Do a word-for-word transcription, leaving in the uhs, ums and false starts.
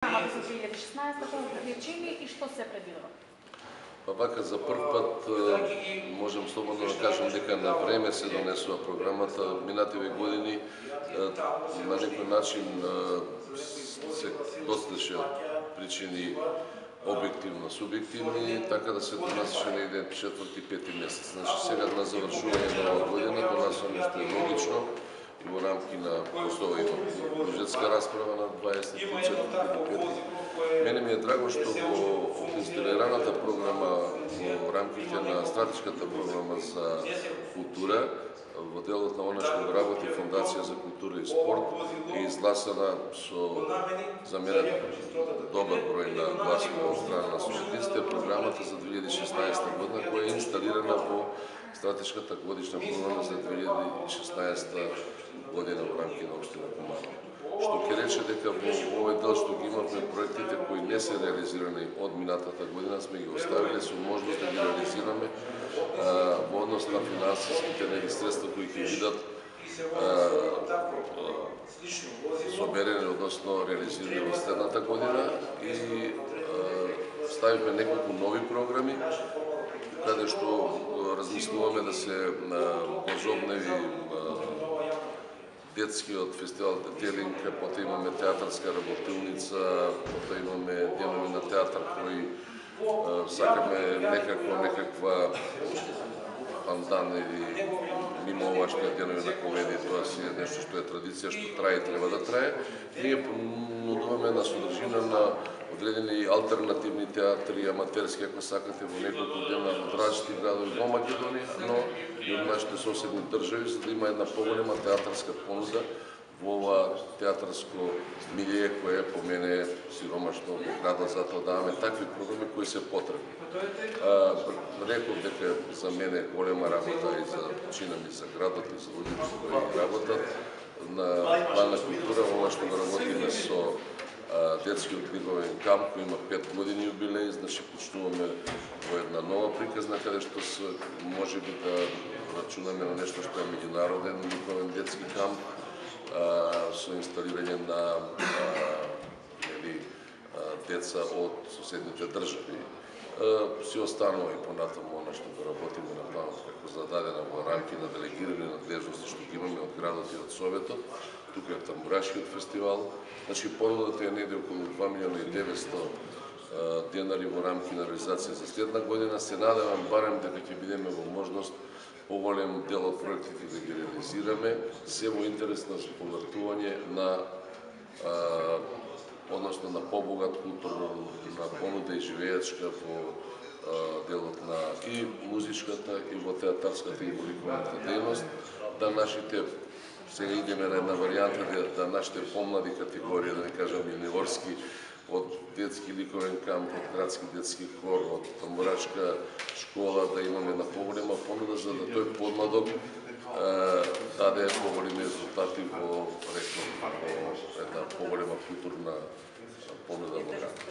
програмата за две илјади и шеснаесета вклучени и што се предвидува? Па вака за прв пат можам слободно да кажам дека на време се донесува програмата. Минативе години на некој начин се достеше причини објективно, субјективни, така да се донасеше негде четврти, пети месец. Значи сега на завршување на оваа година донесува нешто е логично и во рамки на постоја има бюджетска расправа на дваесет и четврти. Мене ми е драго што во инсталираната програма во рамките на стратешката програма за култура во делот на она што работи Фондација за култура и спорт е изгласана со за мене добар број на гласови од страна на суштинските програмата за две илјади и шеснаесета година која е инсталирана во стратешката годишна програма за две илјади и шеснаесета година во рамки на општина Куманово. Што ќе рече дека во овој дел што ги имавме проектите кои не се реализирани од минатата година сме ги оставиле со можност да ги реализираме а, во однос на финансиските средства кои ќе бидат соберени, односно реализирани во следната година и а, ставиме неколку нови програми каде што размислуваме да се возобнови детскиот фестивал Детелинг, потоа имаме театарска работилница, потоа имаме денови на театар кои сакаме некако некаква пандан или мимо овашните денови на комедија, тоа си е нешто што е традиција, што трае и треба да трае. Ние понудуваме на содржина на одредени алтернативни театри, аматерски, ако сакате, во неколку дена од различни градови во Македонија, но и од нашите соседни држави, за да има една поголема театарска понуда во ова театарско милие кое по мене сиромашно во градот, затоа даваме такви програми кои се потребни. А, реков дека за мене голема работа и за чина ми за градот и за луѓето кои работат на план на култура, ова што го работиме со детскиот лиговен камп кој има пет години јубилеј, значи почнуваме во една нова приказна каде што се може би да рачунаме на нешто што е меѓународен лиговен детски камп а, со инсталирање на а, или, а, деца од соседните држави. Си останува и понатаму она што го работиме на планот како зададена во рамки на делегирани надлежности што ги имаме од градот и од Советот. Тука е Тамбурашкиот фестивал. Значи понудата е негде околу два милиона и деветстотини денари во рамки на реализација за следна година. Се надевам барем дека ќе бидеме во можност поголем дел од проектите да ги реализираме, се во интерес на повртување на а, односно на побогат културна на понуда и живеечка во а, делот на и музичката и во театарската и во ликовната дејност, да нашите сега идеме на една варијанта да, да нашите помлади категории, да не кажам юниорски, од детски ликовен камп, од градски детски хор, од тамбурашка школа, да имаме на поголема понуда, за да тој подмладок е, даде поголеми резултати во, реков, во една поголема културна понуда во градот.